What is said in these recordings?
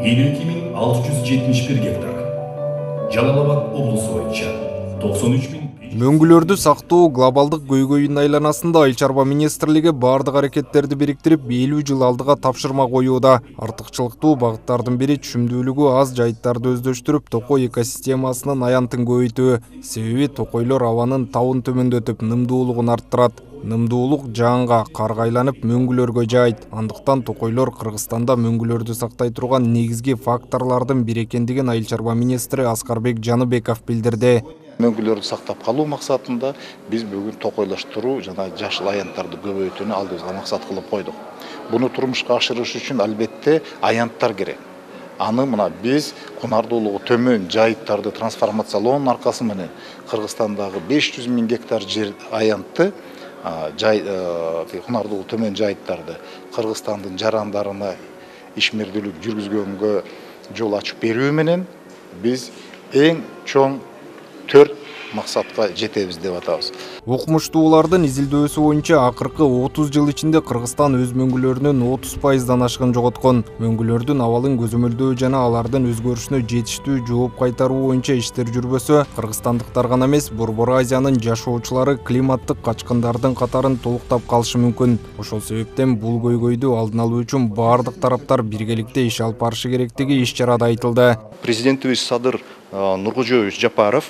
52.671 гектар. Жалал-Абад облусу боюнча 93.000. Мөңгүлөрдү сактоо глобалдык көйгөйүнүн айланасында Айыл чарба министрлиги бардык аракеттерди бириктирип 50 жыл алдыга тапшырма коюуда. Артыкчылыктуу багыттардын бири түшүмдүүлүгү аз жайыттарды өздөштүрүп, токой экосистемасынын аянтын көбөйтүү. Себеби токойлор абанын табын төмөндөтүп, нымдуулугун арттырат. Нымдуулук жаанга, карга айланып мөңгүлөргө жаайт. Андыктан токойлор Кыргызстанда мөңгүлөрдү сактай турган негизги факторлордун бири экендигин Айыл чарба министри Аскарбек Жаныбеков билдирди. Мөңгүлөрдү сактап калуу максатында биз бүгүн токойлоштуруу жана жашыл аянттарды көбөйтүүнү алдыбызга максат кылып койдук. Буну турмушка ашырыш үчүн албетте аянттар керек. Аны мына биз кунардуулугу төмөн жайыттарды трансформациялоонун аркасы менен Кыргызстандагы 500.000 гектар жер аянтты кунардуулугу төмөн жайыттарды Кыргызстандын жарандарына ишмердүүлүк жүргүзгөнгө жол ачып берүү менен биз эң чоң 4 максатка жетебиз деп атабыз. Окумуштуулардын изилдөөсү боюнча акыркы 30 жыл ичинде Кыргызстан өз мөңгүлөрүнүн 30%дан ашкын жоготкон. Мөңгүлөрдүн абалын көзөмөлдөө жана алардын өзгөрүшүнө жетиштүү жооп кайтаруу боюнча иштер жүрбөсө, кыргызстандыктар гана эмес, Борбор Азиянын жашоочулары климаттык качкындардын катарын толуктап калышы мүмкүн. Ошол себептен бул көйгөйдү алдын алуу үчүн бардык тараптар биргеликте иш алып барышы керектиги иш-чарада айтылды. Президентибиз Садыр Нуркожоевич Жапаров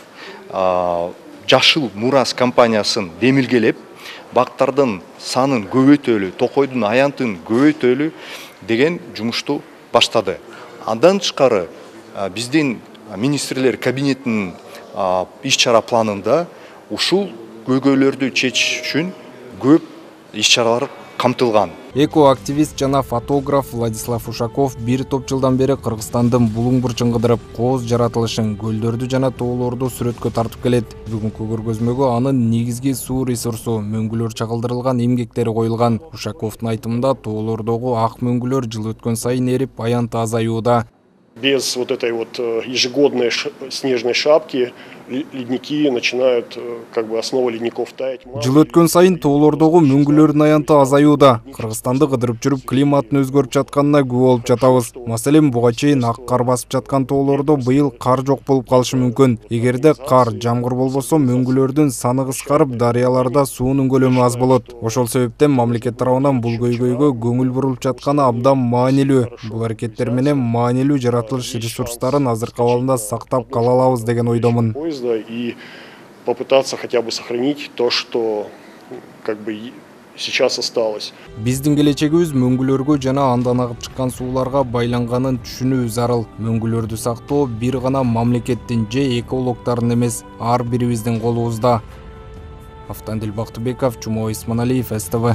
Жашыл Мурас компаниясын демилгелеп, бактардын санын көбөйтөлү, токойдун аянтын көбөйтөлү деген жумушту баштады. Андан тышкары биздин министрлер кабинетинин иш-чара планында ушул көйгөйлөрдү чечиш үчүн көп иш-чаралар камтылган. Экоактивист жана фотограф Владислав Ушаков бир топ жылдан бери Кыргызстандын булуң бурчун кыдырып, кооз жаратылышын, көлдөрдү жана тоолорду сүрөткө тартып келет. Бүгүнкү көргөзмөгө анын негизги суу ресурсу, мөңгүлөр чагылдырылган эмгектери коюлган. Ушаковдун айтымында, тоолордогу ак мөңгүлөр жыл өткөн сайын эрип, аянты азаюуда. Без вот этой вот ежегодной снежной шапки ледники начинают, основа ледников таять. Жыл өткөн сайын тоолордогу мөңгүлөрдүн аянты азаюуда. Кыргызстанды кыдырып жүрүп климаттын өзгөрүп жатканына күбө болуп жатабыз. Маселен, буга чейин ак кар басып жаткан тоолордо быйыл кар жок болуп калышы мүмкүн. Эгерде кар, жамгыр болбосо, мөңгүлөрдүн саны кыскарып, дарыяларда суунун көлөмү аз болот. Ошол себептен мамлекет тарабынан бул көйгөйгө көңүл бурулуп жатканы абдан маанилүү. Бул аракеттер менен маанилүү жаратылыш ресурстарын азыркы абалында сактап кала алабыз деген ойдомун. И попытаться хотя бы сохранить то, что сейчас осталось. Биздин келечегибиз мөңгүлөргө жана андан агып чыккан сууларга байланганын түшүнүү зарыл. Мөңгүлөрдү сактоо бир гана мамлекеттин же экологдордун эмес, ар бирибиздин колубузда. Автандил Бактыбеков, Жумабек Исманалиев, СТВ.